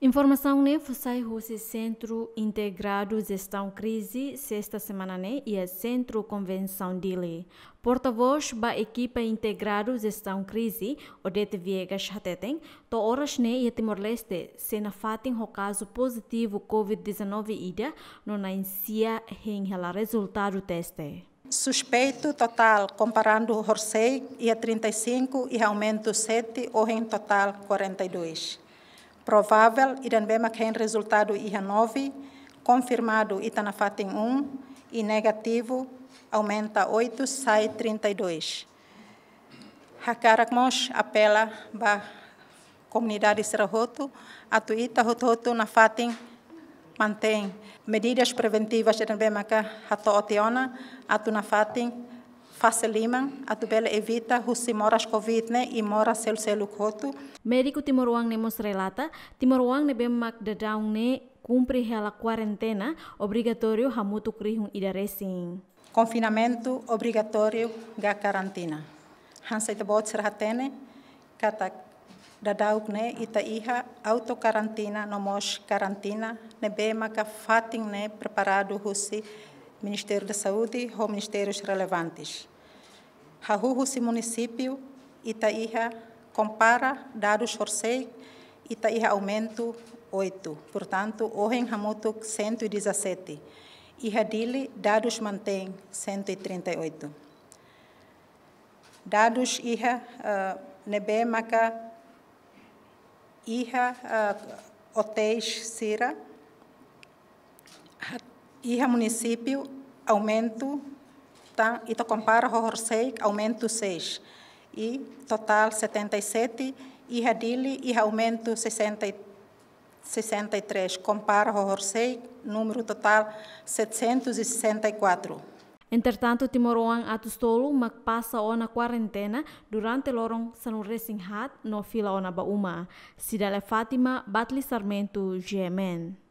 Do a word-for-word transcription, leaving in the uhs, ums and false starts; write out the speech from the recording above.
Informasaun ne'e fó sai husi Sentru Integradu Jestaun Krize, sesta semana ne'e iha Sentru Konvensaun Dili. Portavós ba ekipa Integradu Jestaun Krize, Odete Viegas hateten, to'o oras ne'e iha Timor-Leste sei nafatin ho kazu pozitivu COVID dezanove ida, no na'in sia hein hela rezultadu teste. Suspeitu totál, komparadu horisehik iha trinta e cinco, iha aumentu sete, ohin totál quarenta e dois. Provável ida ne'ebé mak hein rezultadu iha nove, konfirmadu ita nafatin um, i negativu aumenta oito, sai trinta e dois. Hakarak mós apela ba komunidade sira hotu, atu ita hotu-hotu nafatin mantein medidas preventivas ida ne'ebé maka hato'o tiha ona, atu nafatin fase liman, atu bele evita husi moras COVID ne'e i moras seluk-seluk hotu. Médiku timoroan ne'e mós relata, timoroan ne'ebé mak daudaun ne'e kumpre hela kuarentena obrigatóriu hamutuk rihun ida resin. Konfinamentu obrigatóriu ka karantina. Hanesan ita-boot sira hatene katak daudauk ne'e ita iha autokarantina no mós karantina ne'ebé maka fatin ne'e preparadu husi Ministériu da Saúde ho ministérius relevantes. Hahú husi munisípiu, ita iha, kompara dadus horisehik, ita iha aumentu oito. Portantu, ohin hamutuk cento e dezassete. Iha Dili, dadus mantein cento e trinta e oito. Dadus iha, eh, ne'ebé maka iha, eh, otéis sira, iha munisípiu aumentu, tan, ita kompara ho horisehik aumentu seis. I totál setenta e sete, iha Dili, iha aumentu sessenta e, sessenta e três, kompara ho horisehik, númeru totál setecentos e sessenta e quatro. Entretantu, timoroan atus tolu mak pasa ona kuarentena durante loron sanulu-resin-haat no fila ona ba uma. Cidália Fátima, Batli Sarmento, G M N.